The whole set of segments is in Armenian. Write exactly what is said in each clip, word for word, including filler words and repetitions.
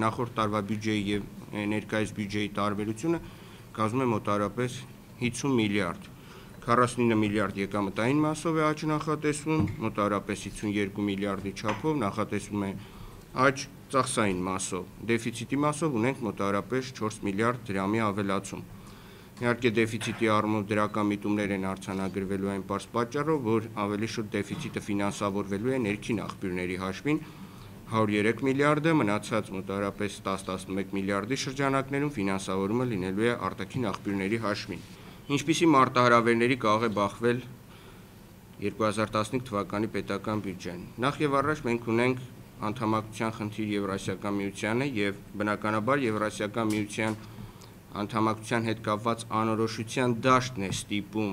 Նախորդ տարվա բյուջեի եւ ներկայիս բյուջեի տարբերությունը կազմում է մոտարապես հիսուն միլիարդ, քառասունինը միլիարդ եկամտային մասով է աճ նախատեսվում, մոտարապես հիսունյոթ միլիարդի չափով նախատեսվում է աճ ծախսային մասով, դեֆիցիտի մասով ունենք մոտարապես չորս միլիարդ դրամի ավելացում։ Իհարկե դեֆիցիտի առումով դրական միտումներ են արձանագրվելու այն պարզ պատճառով, որ ավելի շուտ դեֆիցիտը ֆինանսավորվելու է ներքին աղբյուրների հաշվին հարյուր երեք միլիարդը, մնացած մոտարապես տասը տասնմեկ միլիարդի շրջանակներում ֆինանսավորումը լինելու է արտաքին աղբյուրների հաշվին։ Ինչպիսի մարտահրավերների կարող է բախվել երկու հազար տասնհինգ թվականի պետական բյուջեն։ Նախ եւ առաջ մենք ունենք անդամակցության խնդիր Եվրասիական միությանը եւ բնականաբար Եվրասիական միության անդամակցության հետ կապված անորոշության դաշտն է ստիպում,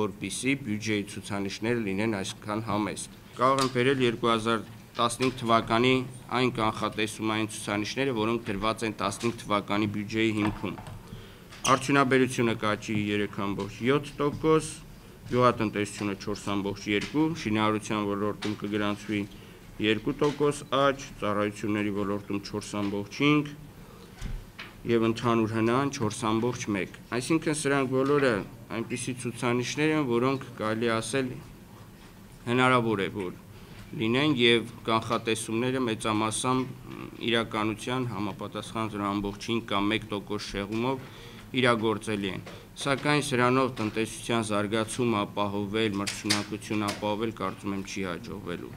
որպեսզի բյուջեի ցուցանիշները լինեն այսքան համեստ։ Կարող են բերել երկու հազար տասնհինգ թվականի այն կանխատեսումային ցուցանիշները, որոնք դրված են տասնհինգ թվականի բյուջեի հիմքում։ Արդյունաբերությունը կաճի երեք կամք յոթ տոկոս, գյուղատնտեսությունը չորս կամք երկու, շինարարության ոլորտում կգրանցվի երկու տոկոս աճ, ծառայությունների ոլորտում չորս կամք հինգ եւ ընդհանուր հնան չորս կամք մեկ։ Այսինքն սրանք բոլորը այնպիսի ցուցանիշներ են, որոնք կարելի ասել հնարավոր է որ լինեն եւ կանխատեսումները մեծամասամբ իրականության համապատասխան զրո կամք հինգ կամ մեկ տոկոս շեղումով իրագործելի են, սակայն սրանով տնտեսության զարգացումը ապահովել, մրցունակություն ապահովել կարծում եմ չի հաջողվելու։